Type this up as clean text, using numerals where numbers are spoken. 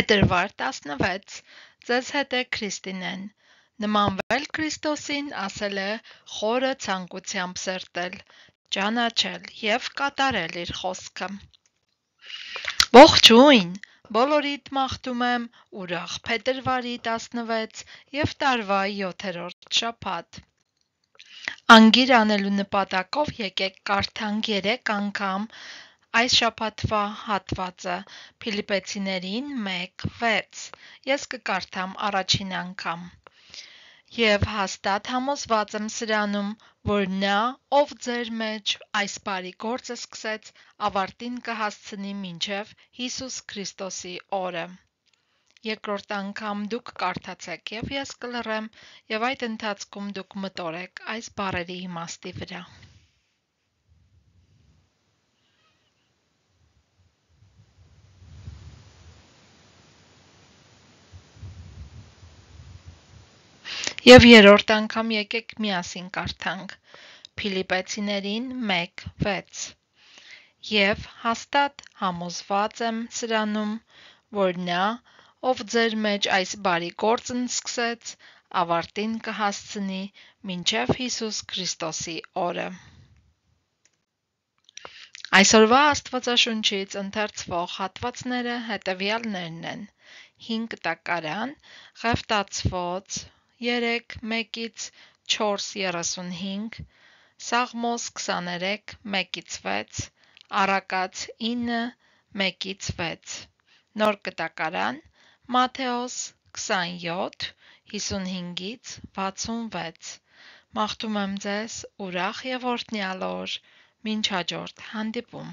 Փետրվար 16 Ձեզ հետ է Քրիստինեն։ Նմանվել Քրիստոսին ասել է խորը ցանկությամբ սերտել, ճանաչել և կատարել իր խոսքը։ Ողջույն, բոլորիդ մաղթում եմ ուրախ փետրվարի 16 և տարվա 7-րդ շաբաթ։ Անգիր անելու նպատակով եկեք կարդանք 3 անգամ այս շաբաթվա հատվածը Փիլիպպեցիներին 1:6 Ես կկարդամ առաջին անգամ։ Եվ հաստատ համոզված եմ սրանում, որ նա, ով ձեր մեջ այս բարի գործը սկսեց, ավարտին կհասցնի մինչև Հիսուս Քրիստոսի օրը։ Երկրորդ անգամ դուք կարդացեք և ես կլռեմ, և այդ ընթացքում դուք մտորեք այս բառերի իմաստի վրա։ Եվ երրորդ անգամ եկեք միասին կարդանք Փիլիպպեցիներին 1:6 Եվ հաստատ համոզված եմ սրանում, որ նա, ով ձեր մեջ այս բարի գործն սկսեց, ավարտին կհասցնի մինչև Հիսուս Քրիստոսի օրը։ Այսօրվա Աստվածաշունչից ընթերցվող հատվածները հետևյալներն են. 5 տակարան, Ղևտացոց 3:1-4:35, Սաղմոս 23 1-6, Առակաց 9:1-6, Նոր կտակարան, Մատթեոս 27 55-66։ Մաղթում եմ ձեզ ուրախ և օրհնյալ օր, մինչ հաջորդ հանդիպում։